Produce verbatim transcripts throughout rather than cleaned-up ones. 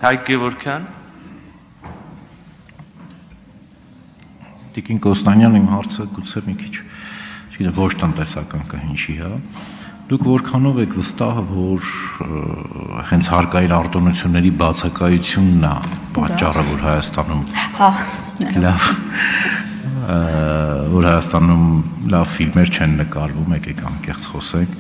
Հայկ Գևորգյան։ Տիկին Կոստանյան, իմ հարցը գուցե մի քիչ, չգիտեմ, ոչ տնտեսական կհնչի, հա։ Դուք որքանով եք վստահ, որ հենց հարկային արտոնությունների բացակայությունն է պատճառը, որ Հայաստանում լավ որ Հայաստանում լավ ֆիլմեր չեն նկարվում, եկեք անկեղծ խոսենք,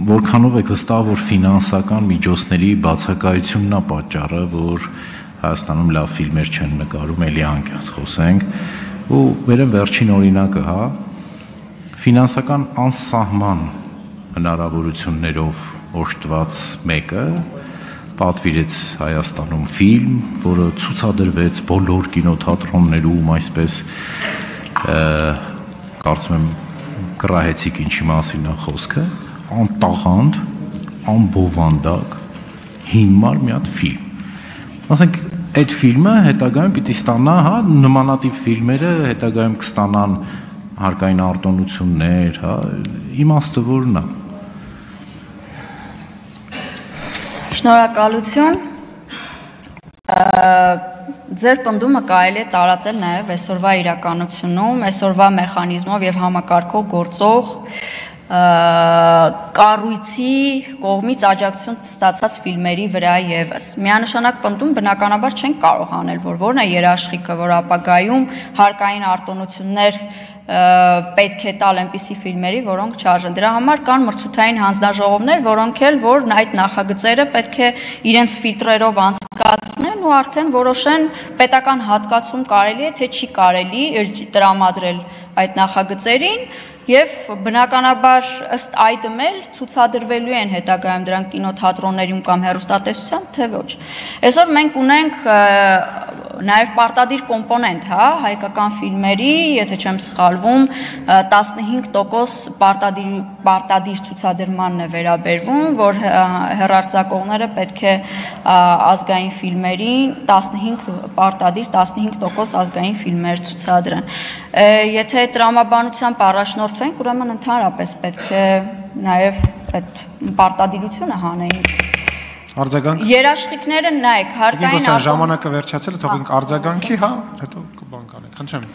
որքանով եք վստահ, որ ֆինանսական միջոցների բացակայությունն է պատճառը, որ Հայաստանում լավ ֆիլմեր չեն նկարում, էլի անկեղծ խոսենք, ու վերեմ վերջին օրինակը, հա, ֆինանսական անսահման հնարավորություններով օժտված մեկը պատվիրեց Հայաստանում ֆիլմ, որը ցուցադրվեց բոլոր կինոթատրոններում, այսպես կարծում եմ կռահեցիք ինչի մասին է խոսքը, անտաղանդ, անբովանդակ, հիմար մի հատ ֆիլմ։ Ասենք, այդ ֆիլմը հետագայում պիտի ստանա, հա, նմանատիպ ֆիլմերը հետագայում կստանան հարկային արտոնություններ, հա, իմաստը որն է։ Շնորհակալություն։ Ձեր պնդումը կարելի է տարածել նաև այսօրվա իրականությունում, այսօրվա մեխանիզմով եւ համակարգով գործող կառույցի կողմից աջակցություն ստացած ֆիլմերի վրա եւս։ Միանշանակ պնդում բնականաբար չեն կարող անել, որ որն է երաշխիքը, որ ապագայում հարկային արտոնություններ պետք է տալ այնպիսի ֆիլմերի, որոնք չարժեն։ Դրա համար կան մրցութային հանձնաժողովներ, որոնք էլ որ այդ նախագծերը պետք է իրենց ֆիլտրերով անցկացնեն ու արդեն որոշեն պետական հատկացում կարելի է, թե չի կարելի տրամադրել այդ նախագծերին եւ բնականաբար ըստ այդմ էլ ցուցադրվելու են հետագայում դրանք կինոթատրոններում կամ հեռուստատեսության, թե ոչ։ Այսօր մենք ունենք նաև պարտադիր կոմպոնենտ, հա, հայկական ֆիլմերի, եթե չեմ սխալվում, տասնհինգ տոկոս պարտադիր պարտադիր ցուցադրմանն է վերաբերվում, որ հեռարձակողները պետք է ազգային ֆիլմերին տասնհինգ պարտադիր տասնհինգ տոկոս ազգային ֆիլմեր ցուցադրեն։ Եթե տրամաբանությամբ առաջնորդվենք, ուրեմն ընդհանրապես պետք է նաև այդ պարտադիրությունը հանեին։ Արձագանք։ Երաշխիքները նայեք, հարկային ժամանակը վերջացել է, թողենք արձագանքի, հա, հետո կբան կանենք։ Խնդրեմ,